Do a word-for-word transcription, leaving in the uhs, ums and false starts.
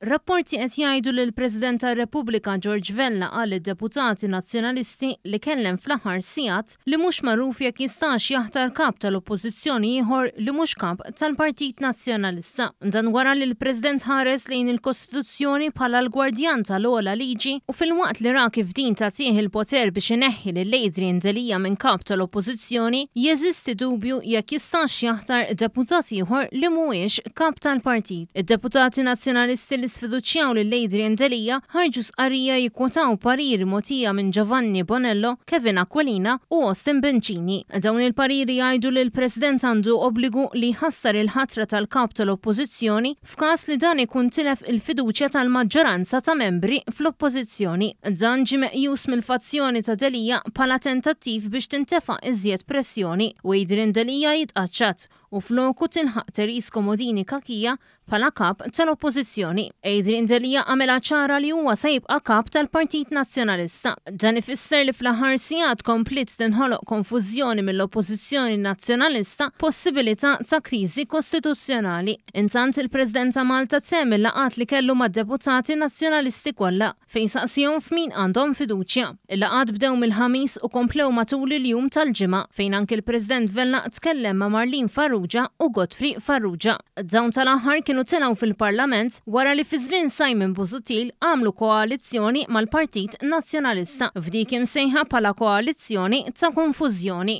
Rapporti qed jgħidu li l-President tar-Repubblika George Vella qal lid-deputati Nazzjonalisti li kellem fl-aħħar sigħat li mhux magħruf jekk jistax jaħtar kap tal-Oppożizzjoni ieħor li mhux kap tal-Partit Nazzjonalista. Dan wara li l-President ħares lejn il-Kostituzzjoni bħala l-gwardjan tal-ogħla liġi u filwaqt li ra kif din tagħtih il-poter biex ineħħi lil Adrian Delia minn kap tal-Oppożizzjoni, jeżisti dubju jekk jistax jaħtar deputat ieħor li mhuwiex kap tal-partit. Id-deputati Nazzjonalisti li sfiduċjaw lil Adrian Delia ħarġu stqarrija jikkwotaw pariri mogħtija minn Giovanni Bonello, Kevin Aquilina u Austin Bencini. Dawn il-pariri jgħidu li l-President għandu obbligu li jħassar il-ħatra tal-kap tal-Oppożizzjoni f'każ li dan ikun tilef il-fiduċja tal-maġġoranza ta' membri fl-Oppożizzjoni. Dan ġie meqjus mill-fazzjoni ta' Delia bħala tentattiv biex tintefa' iżjed pressjoni u Adrian Delia jitqaċċat u floku tilħaq Therese Comodini Cachia bħala kap tal-Oppożizzjoni. Adrian Delia għamela ċara li huwa se jibqa' kap tal-Partit Nazzjonalista. Dan ifisser li fl-aħħar sigħat kompliet tinħoloq konfużjoni mill-Oppożizzjoni Nazzjonalista, possibilità ta' kriżi kostituzzjonali. Intant, il-President ta' Malta temm il-laqgħat li kellu mad-deputati Nazzjonalisti kollha, fejn saqsihom f'min għandhom fiduċja. Il-laqgħat bdew mill-Ħamis u komplew matul il-jum tal-Ġimgħa, fejn anki l-President Vella tkellem ma' Marlene Farrugia u Godfrey Farrugia. Dawn tal-aħħar kienu telgħu fil-Parlament wara li fi żmien Simon Busuttil għamlu koalizzjoni mal-Partit Nazzjonalista f'dik imsejħa bħala koalizzjoni ta' konfużjoni.